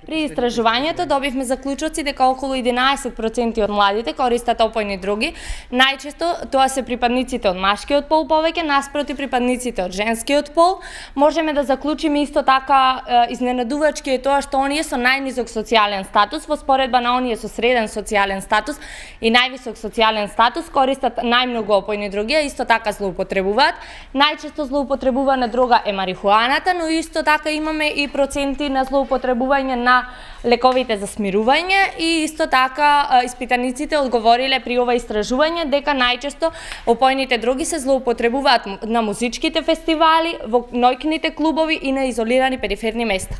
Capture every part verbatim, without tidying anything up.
При истражувањето добивме заклучоци дека околу единаесет проценти од младите користат опојни дроги. Најчесто тоа се припадниците од машкиот пол повеќе наспроти припадниците од женскиот пол. Можеме да заклучиме исто така изненадувачки е тоа што оние со најнизок социјален статус во споредба на оние со среден социјален статус и највисок социјален статус користат најмногу опојни дроги, а исто така злоупотребуваат. Најчесто злоупотребувана дрога е марихуаната, но исто така имаме и проценти на злоупотребување на лековите за смирување и исто така испитаниците одговориле при ова истражување дека најчесто опојните дроги се злоупотребуваат на музичките фестивали, во ноќните клубови и на изолирани периферни места.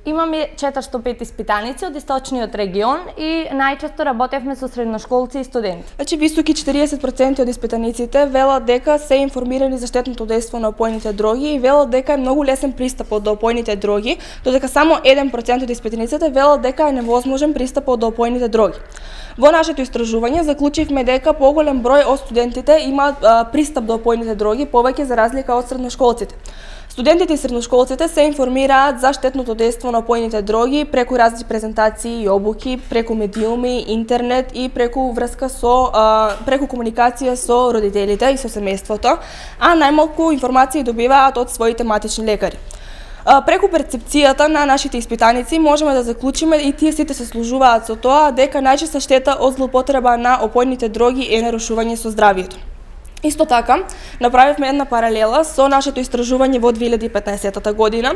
Имаме четиристотини и пет испитаници од источниот регион и најчесто работевме со средношколци и студенти. Значи високи четириесет проценти од испитаниците велат дека се информирани за штетното дејство на опојните дроги и велат дека е многу лесен пристапот до опојните дроги, додека само еден процент од испитаниците велат дека е невозможен пристапот до опојните дроги. Во нашето истражување заклучивме дека поголем број од студентите имаат пристап до опојните дроги, повеќе за разлика од средношколците. Студентите и средношколците се информираат за штетното дејство на опојните дроги преку разни презентации и обуки, преку медиуми, интернет и преку врска со преку комуникација со родителите и со семејството, а најмалку информации добиваат од своите матични лекари. Преку перцепцијата на нашите испитаници можеме да заклучиме и тие сите се служуваат со тоа дека најчеста штета од злоупотреба на опојните дроги е нарушување со здравието. Исто така, направивме една паралела со нашето истражување во две илјади и петнаесетта година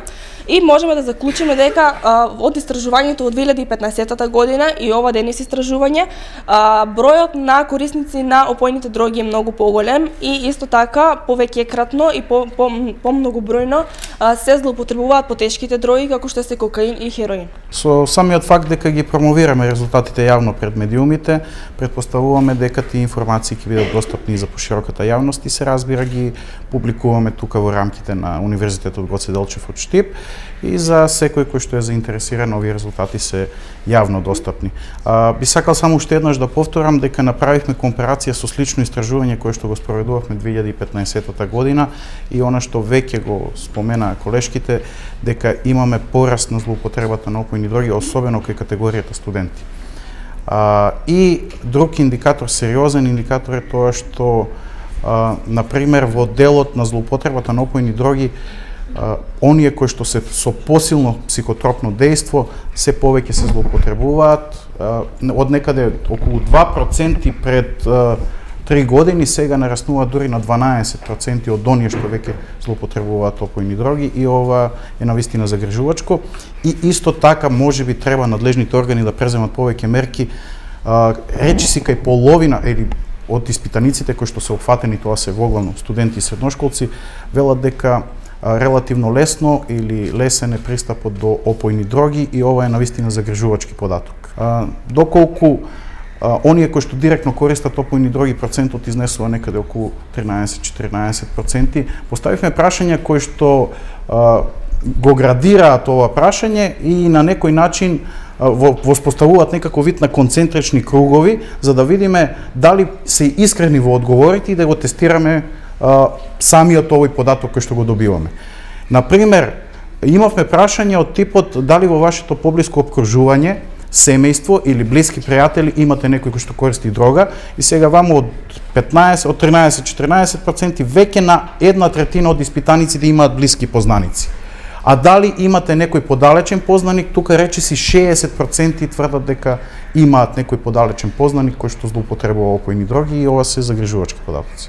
и можеме да заклучиме дека а, од истражувањето од две илјади и петнаесетта година и ова денес истражување, а, бројот на корисници на опојните дроги е многу поголем и исто така повеќекратно и по, по, по многобројно а, се злоупотребуваат потешките дроги како што се кокаин и хероин. Со самиот факт дека ги промовираме резултатите јавно пред медиумите, претпоставуваме дека тие информации ќе бидат достапни за пошироката јавност и се разбира ги публикуваме тука во рамките на Универзитетот Гоце Делчев од Штип и за секој кој што е заинтересиран овие резултати се јавно достапни. А, би сакал само уште еднаш да повторам дека направивме компарација со слично истражување кое што го спроведувавме две илјади и петнаесетта година и она што веќе го споменаа колешките дека имаме пораст на злоупотребата на опојни дроги, особено кај категоријата студенти. А, и друг индикатор, сериозен индикатор е тоа што Uh, например, во делот на злоупотребата на опојни дроги, uh, оние кои што се со посилно психотропно дејство се повеќе се злоупотребуваат, uh, од некаде околу два проценти пред uh, три години, сега нараснува дури на дванаесет проценти од оние што веќе злоупотребуваат опојни дроги и ова е навистина загрижувачко. И исто така можеби треба надлежните органи да преземат повеќе мерки, uh, речиси кај половина или од испитаниците кои што се опфатени, тоа се воглавно студенти и средношколци, велат дека а, релативно лесно или лесен е пристапот до опојни дроги и ова е навистина загрижувачки податок. А, доколку а, оние кои што директно користат опојни дроги, процентот изнесува некаде околу тринаесет до четиринаесет проценти, поставивме прашања кои што а, го градираат ова прашање и на некој начин воспоставуваат некако вид на концентрични кругови, за да видиме дали се искрени во одговорите и да го тестираме а, самиот овој податок кој што го добиваме. Например, имавме прашање од типот дали во вашето поблиско обкружување, семејство или блиски пријатели имате некој кој што користи дрога и сега ваму од петнаесет, од тринаесет до четиринаесет проценти веќе на една третина од испитаниците имаат блиски познаници. А дали имате некој подалечен познаник, тука речиси шеесет проценти тврдат дека имаат некој подалечен познаник кој што злоупотребува опојни дроги и ова се загрижувачки податоци.